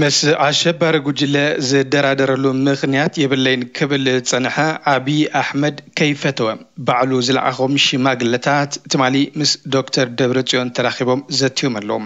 ምስ ኣሸባሪ ጉጅለ ዝደራደረሉ ምኽንያት የብለይን ክብል ዝጸንሐ ኣብይ ኣሕመድ ከይፈተወ፣ ባዕሉ ዝለኣኾም ሽማግለታት ትማሊ ምስ ዶክተር ደብረጽዮን ተራኺቦም ዘትዮም ኣለዉ።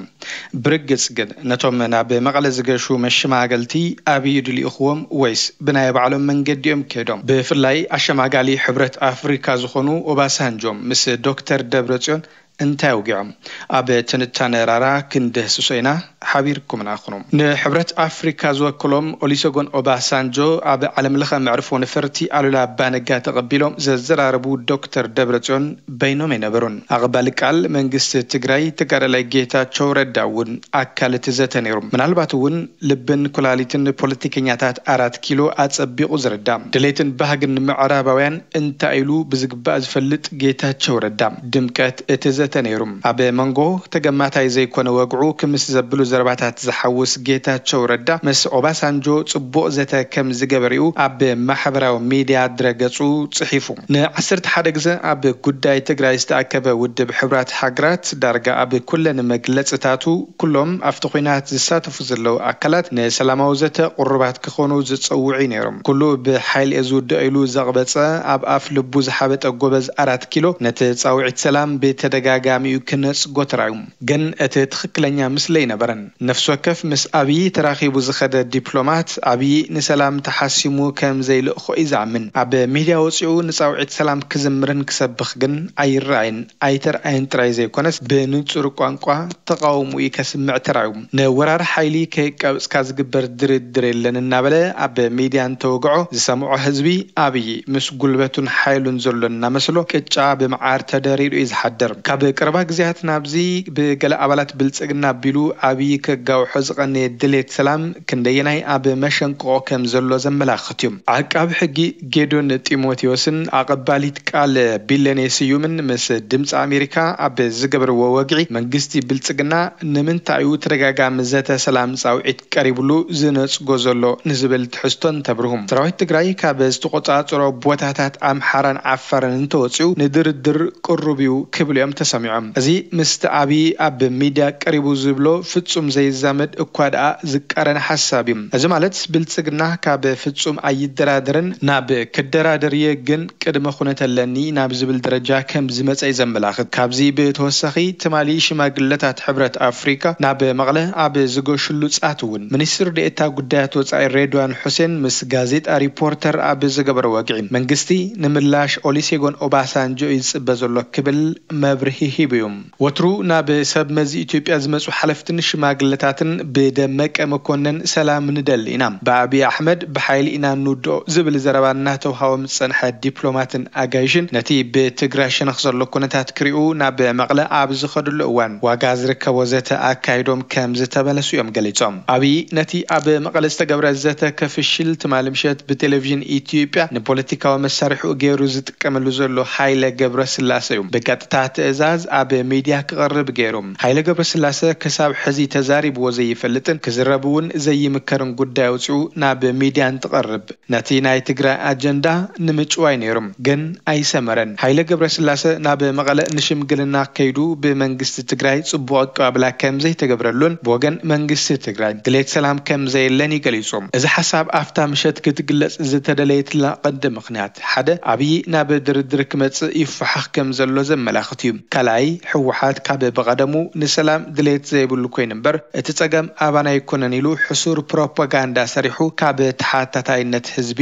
ብርግጽ ግን፣ ነቶም ናብ መቐለ ዝገሹ መሸማገልቲ ኣብይ ድልኢኽዎም ወይስ ብናይ ባዕሎም መንገዲ እዮም ከይዶም? ብፍላይ ኣሸማጋሊ ሕብረት ኣፍሪካ ዝኾኑ ኦባሳንጆ ምስ ዶክተር ደብረጽዮን እንታይ ኣውጊዖም? ኣብ ትንታነ ራራ ክንድህስሶ ኢና። ሓቢርኩምና ኩኑ። ንሕብረት ኣፍሪካ ዝወክሎም ኦሊሰጎን ኦባሳንጆ ኣብ ዓለም ለኸ መዕርፎ ነፈርቲ ኣሉላ ኣባነጋ ተቐቢሎም ዘዘራረቡ ዶክተር ደብረጽዮን በይኖም ኣይነበሩን። ኣቐባሊ ቃል መንግስቲ ትግራይ ተጋዳላይ ጌታቸው ረዳ እውን ኣካል እቲ ዘተ ነይሩ። ምናልባት እውን ልብን ኩላሊትን ፖለቲከኛታት ኣራት ኪሎ ኣጸቢቑ ዝርዳ፣ ድሌትን ባህግን ምዕራባውያን እንታይ ኢሉ ብዝግባእ ዝፈልጥ ጌታቸው ረዳ ድምቀት እቲ ዘተ ነይሩ። ኣብ መንጎ ተገማታይ ዘይኮነ ወግዑ ክምስ ዘብሉ ዘረባታት ዝሓውስ ጌታቸው ረዳ ምስ ኦባሳንጆ ጽቡቕ ዘተ ከም ዝገበሪኡ ኣብ ማሕበራዊ ሚድያ ድረገጹ ጽሒፉ። ንዓሰርተ ሓደ ግዜ ኣብ ጉዳይ ትግራይ ዝተኣከበ ውድብ ሕቡራት ሃገራት ዳርጋ ኣብ ኩለን መግለጽታቱ ኩሎም ኣብቲ ኲናት ዝሳተፉ ዘለዉ ኣካላት ንሰላማዊ ዘተ ቅሩባት ክኾኑ ዝጸውዑ ነይሮም። ኩሉ ብሓይሊ እየ ዝውድኦ ኢሉ ዘቕበጸ፣ ኣብ ኣፍ ልቡ ዝሓበጠ ጎበዝ ኣራት ኪሎ ነቲ ጻውዒት ሰላም ብተደጋጋሚኡ ክነጽጎ ተራእዩ። ግን እቲ ትኽክለኛ ምስለ ኣይነበረን። ነፍሲ ወከፍ ምስ ኣብዪ ተራኺቡ ዝኸደ ዲፕሎማት፣ ኣብዪ ንሰላም ተሓሲሙ ከም ዘይልእኾ እዩ ዝኣምን። ኣብ ሚድያ ወጺኡ ንጻውዒት ሰላም ክዝምርን ክሰብኽ ግን ኣይረኣይን። ኣይተርኣየን ጥራይ ዘይኮነስ ብንጹር ቋንቋ ተቓውሞኡ ከስምዕ ተራእዩ። ንወራር ሓይሊ ከየቃብጽካ ዝግበር ድርድር የለን እናበለ ኣብ ሚድያ እንተወግዖ ዝሰምዖ ህዝቢ ኣብይ ምስ ጉልበቱን ሓይሉን ዘሎ እናመስሎ ቅጫ ብመዓር ተደሪሩ እዩ ዝሓድር። ካብ ቀረባ ግዜያት ናብዚ ብገለ ኣባላት ብልጽግና ኣቢሉ ኣብይ ከጋውሖ ዝቐነየ ድሌት ሰላም ክንደየናይ ኣብ መሸንቅቖ ከም ዘሎ ዘመላኽት እዩ። ዓቃቢ ሕጊ ጌዶን ጢሞቴዎስን ኣቐባሊት ቃል ቢለኔ ስዩምን ምስ ድምፂ ኣሜሪካ ኣብ ዝገበርዎ ወግዒ፣ መንግስቲ ብልጽግና ንምንታይ እዩ ተደጋጋሚ ዘተ ሰላም ጻውዒት ቀሪብሉ ዝነጽጎ ዘሎ ንዝብል ትሕዝቶ እንተብርሁ፣ ሰራዊት ትግራይ ካብ ዝተቆጻጸሮ ቦታታት ኣምሓራን ዓፋርን እንተወጺኡ ንድርድር ቅሩብ እዩ ክብሉ እዮም ተሰሚዖም። እዚ ምስቲ ኣብይ ኣብ ሚድያ ቀሪቡ ዝብሎ ፍጹም ዘይዛመድ እኳ ደኣ ዝቃረን ሓሳብ እዩ። እዚ ማለት ብልጽግና ካብ ፍጹም ኣይደራደርን ናብ ክደራደር እየ ግን ቅድመ ኩነት ኣለኒ ናብ ዝብል ደረጃ ከም ዝመጸ እዩ ዘመላኽት። ካብዚ ብተወሳኺ ትማሊ ሽማግለታት ሕብረት ኣፍሪካ ናብ መቐለ ኣብ ዝገሽሉ ጻት እውን ሚኒስትር ዴኤታ ጉዳያት ወጻኢ ሬድዋን ሑሴን ምስ ጋዜጣ ሪፖርተር ኣብ ዝገበረ ወግዒ መንግስቲ ንምላሽ ኦሊሴጎን ኦባሳንጆ እዩ ዝጽበ ዘሎ ክብል መብርሂ ሂቡ እዩ። ወትሩ ናብ ሰብ መዚ ኢትዮጵያ ዝመጹ ሓለፍትን ሽማግለታትን ብደመቀ መኮነን ሰላም ንደሊ ኢና፣ ብኣብይ ኣሕመድ ብሓይሊ ኢና ንውድኦ ዝብል ዘረባ እናተውሃቦም ዝጸንሐ ዲፕሎማትን ኣጋይሽን ነቲ ብትግራይ ሸነኽ ዘሎ ኩነታት ክሪኡ ናብ መቐለ ኣብ ዝኸድሉ እዋን ዋጋ ዝርከቦ ዘተ ኣካይዶም ከም ዝተመለሱ እዮም ገሊጾም። ኣብይ ነቲ ኣብ መቐለ ዝተገብረ ዘተ ከፍሽል ትማሊ ምሸት ብቴሌቪዥን ኢትዮጵያ ንፖለቲካዊ መሳርሒኡ ገይሩ ዝጥቀመሉ ዘሎ ሃይለ ገብረስላሰ እዩ ብቀጥታ ትእዛዝ ኣብ ሚድያ ክቐርብ ገይሩ። ሃይለ ገብረስላሰ ክሳብ ሕዚ ተዛሪብዎ ዘይፈልጥን ክዝረብ እውን ዘይምከርን ጉዳይ ኣውፂኡ ናብ ሚድያ እንትቐርብ ነቲ ናይ ትግራይ ኣጀንዳ ንምጭዋይ ነይሩ፣ ግን ኣይሰመረን። ሃይለ ገብረስላሰ ናብ መቐለ ንሽምግልና ከይዱ ብመንግስቲ ትግራይ ጽቡቕ ኣቀባብላ ከም ዘይተገብረሉን ብወገን መንግስቲ ትግራይ ድሌት ሰላም ከም ዘየለን እዩ ገሊጹ። እዚ ሓሳብ ኣብታ ምሸት ክትግለጽ ዝተደለየትላ ቀንዲ ምኽንያት ሓደ ኣብይ ናብ ድርድር ክመጽእ ይፈሓኽ ከም ዘሎ ዘመላኽት እዩ። ካልኣይ፣ ህወሓት ካብ ብቐደሙ ንሰላም ድሌት ዘይብሉ ኮይኑ እምበር እቲ ጸገም ኣባና ኣይኮነን ኢሉ ሕሱር ፕሮፓጋንዳ ሰሪሑ ካብ ተሓታታይነት ህዝቢ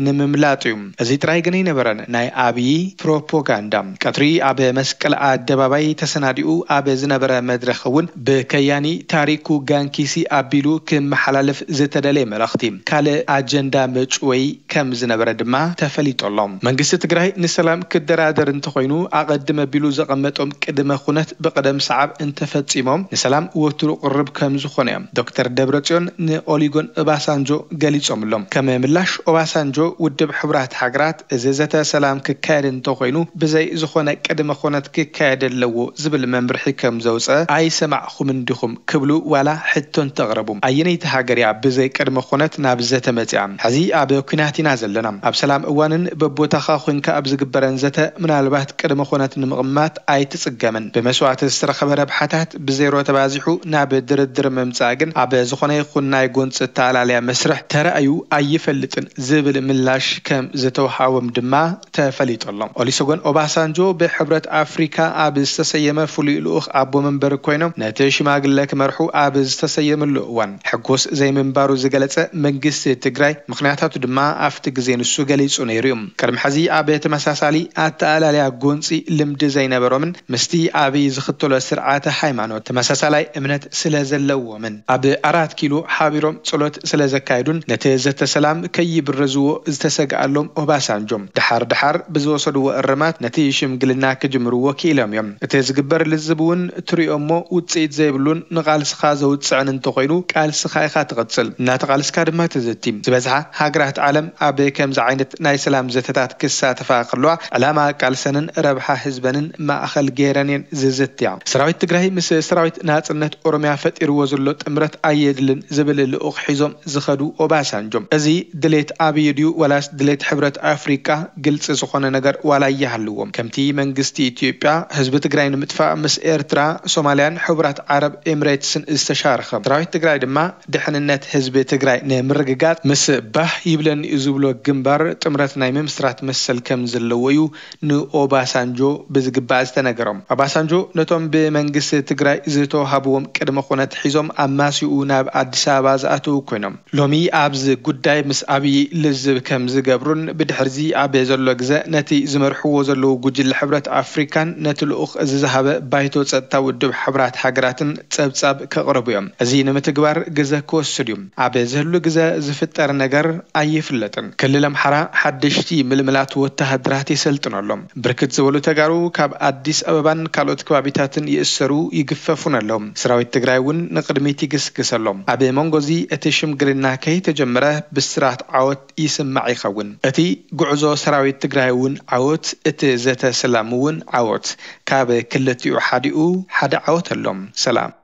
ንምምላጥ እዩ። እዚ ጥራይ ግን ኣይነበረን ናይ ኣብዪ ፕሮፓጋንዳ። ቀትሪ ኣብ መስቀል ኣደባባይ ተሰናዲኡ ኣብ ዝነበረ መድረኽ እውን ብከያኒ ታሪኩ ጋንኪሲ ኣቢሉ ክመሓላለፍ ዝተደለየ መልእኽቲ ካልእ ኣጀንዳ መጭወይ ከም ዝነበረ ድማ ተፈሊጡ ኣሎ። መንግስቲ ትግራይ ንሰላም ክደራደር እንተኾይኑ ኣቐድም ኣቢሉ ዘቐመጦም ቅድመ ኩነት ብቕደም ሰዓብ እንተፈጺሞም ንሰላም ወትሩ ቅርብ ከም ዝኾነ እዮም ዶክተር ደብረጽዮን ንኦሊጎን ኦባሳንጆ ገሊጾምሎም። ከም ምላሽ ኦባሳንጆ ውድብ ሕቡራት ሃገራት እዚ ዘተ ሰላም ክካየድ እንተኾይኑ ብዘይ ዝኾነ ቅድመ ኩነት ክካየድ ኣለዎ ዝብል መምርሒ ከም ዘውፀ ኣይሰማዕኹምን ዲኹም ክብሉ ዋላ ሕቶ እንተቕረቡ ኣየነይቲ ሃገር እያ ብዘይ ቅድመ ኩነት ናብ ዘተ መፂኣ? ሕዚ ኣብ ኲናት ኢና ዘለና። ኣብ ሰላም እዋንን በቦታኻ ኮንካ ኣብ ዝግበረን ዘተ ምናልባት ቅድመ ኩነት ንምቕማጥ ኣይ ኣይትጽገምን። ብመስዋእቲ ዝተረኸበ ረብሓታት ብዜሮ ተባዚሑ ናብ ድርድር ምምጻእ ግን ኣብ ዝኾነ ይኹን ናይ ጎንፂ ኣተኣላልያ መስርሕ ተራእዩ ኣይፈልጥን ዝብል ምላሽ ከም ዝተውሃቦም ድማ ተፈሊጡ ኣሎ። ኦሊሰጎን ኦባሳንጆ ብሕብረት ኣፍሪካ ኣብ ዝተሰየመ ፍሉይ ልኡኽ ኣቦ መንበር ኮይኖም ነቲ ሽማግለ ክመርሑ ኣብ ዝተሰየምሉ እዋን ሕጉስ ዘይምንባሩ ዝገለጸ መንግስቲ ትግራይ ምኽንያታቱ ድማ ኣብቲ ግዜ ንሱ ገሊጹ ነይሩ እዩ። ቅድሚ ሕዚ ኣብ ተመሳሳሊ ኣተኣላልያ ጎንፂ ልምዲ ዘይነበሮምን ምስቲ ኣብይ ዝኽተሎ ስርዓተ ሃይማኖት ተመሳሳላይ እምነት ስለ ዘለዎምን ኣብ ኣራት ኪሎ ሓቢሮም ጸሎት ስለ ዘካየዱን ነቲ ዘተ ሰላም ከይብረዝዎ ዝተሰግኣሎም ኦባሳንጆ ድሓር ድሓር ብዝወሰድዎ እርማት ነቲ ሽምግልና ክጅምርዎ ክኢሎም እዮም። እቲ ዝግበር ልዝብ እውን ትሪኦ እሞ ውፅኢት ዘይብሉን ንቓልስኻ ዘውፅዕን እንተኾይኑ ቃልስኻ ኢኻ ትቕፅል፣ እናተቓልስካ ድማ ትዝቲ። ዝበዝሓ ሃገራት ዓለም ኣብ ከምዚ ዓይነት ናይ ሰላም ዘተታት ክሳተፋ ከለዋ ዕላማ ቃልሰንን ረብሓ ህዝበንን ማእኸል ገይረን እየን ዝዝትያ። ሰራዊት ትግራይ ምስ ሰራዊት ናፅነት ኦሮሚያ ፈጢርዎ ዘሎ ጥምረት ኣየድልን ዝብል ልኡኽ ሒዞም ዝኸዱ ኦባሳንጆ፣ እዚ ድሌት ኣብይ ድዩ ዋላስ ድሌት ሕብረት ኣፍሪቃ ግልፂ ዝኾነ ነገር ዋላ ይሃልዎም። ከምቲ መንግስቲ ኢትዮጵያ ህዝቢ ትግራይ ንምጥፋእ ምስ ኤርትራ፣ ሶማልያን ሕቡራት ዓረብ ኤምሬትስን ዝተሻረኸ፣ ሰራዊት ትግራይ ድማ ድሕንነት ህዝቢ ትግራይ ንምርግጋፅ ምስ ባህ ይብለኒ እዩ ዝብሎ ግንባር ጥምረት ናይ ምምስራት መሰል ከም ዘለዎ እዩ ንኦባሳንጆ ብዝግባእ ዝተነገሮም። ኦባሳንጆ ነቶም ብመንግስቲ ትግራይ ዝተዋሃብዎም ቅድመ ኩነት ሒዞም ኣማሲኡ ናብ ኣዲስ ኣበባ ዝኣተዉ ኮይኖም፣ ሎሚ ኣብዚ ጉዳይ ምስ ኣብዪ ልዝብ ከም ዝገብሩን ብድሕርዚ ኣብ ዘሎ ግዘ ነቲ ዝመርሕዎ ዘለዉ ጉጅለ ሕብረት ኣፍሪካን ነቲ ልኡኽ እዚ ዝሃበ ባይቶ ጸጥታ ውድብ ሕቡራት ሃገራትን ጸብጻብ ከቕርቡ እዮም። እዚ ንምትግባር ግዘ ክወስድ እዩ። ኣብ ዝህሉ ግዘ ዝፍጠር ነገር ኣይፍለጥን። ክልል ኣምሓራ ሓደሽቲ ምልምላት ወተሃደራት የሰልጥኑ ኣሎ። ብርክት ዝበሉ ተጋሩ ካብ ኣዲስ ኣበባን ካልኦት ከባቢታትን ይእሰሩ ይግፈፉን ኣለዉ። ሰራዊት ትግራይ እውን ንቕድሚት ይግስግስ ኣሎ። ኣብ መንጎ እዚ እቲ ሽምግልና ከይተጀመረ ብስራት ዓወት ይስማዕ ይኸውን። እቲ ጉዕዞ ሰራዊት ትግራይ እውን ዓወት፣ እቲ ዘተ ሰላም እውን ዓወት። ካብ ክልቲኡ ሓዲኡ ሓደ ዓወት ኣሎ። ሰላም።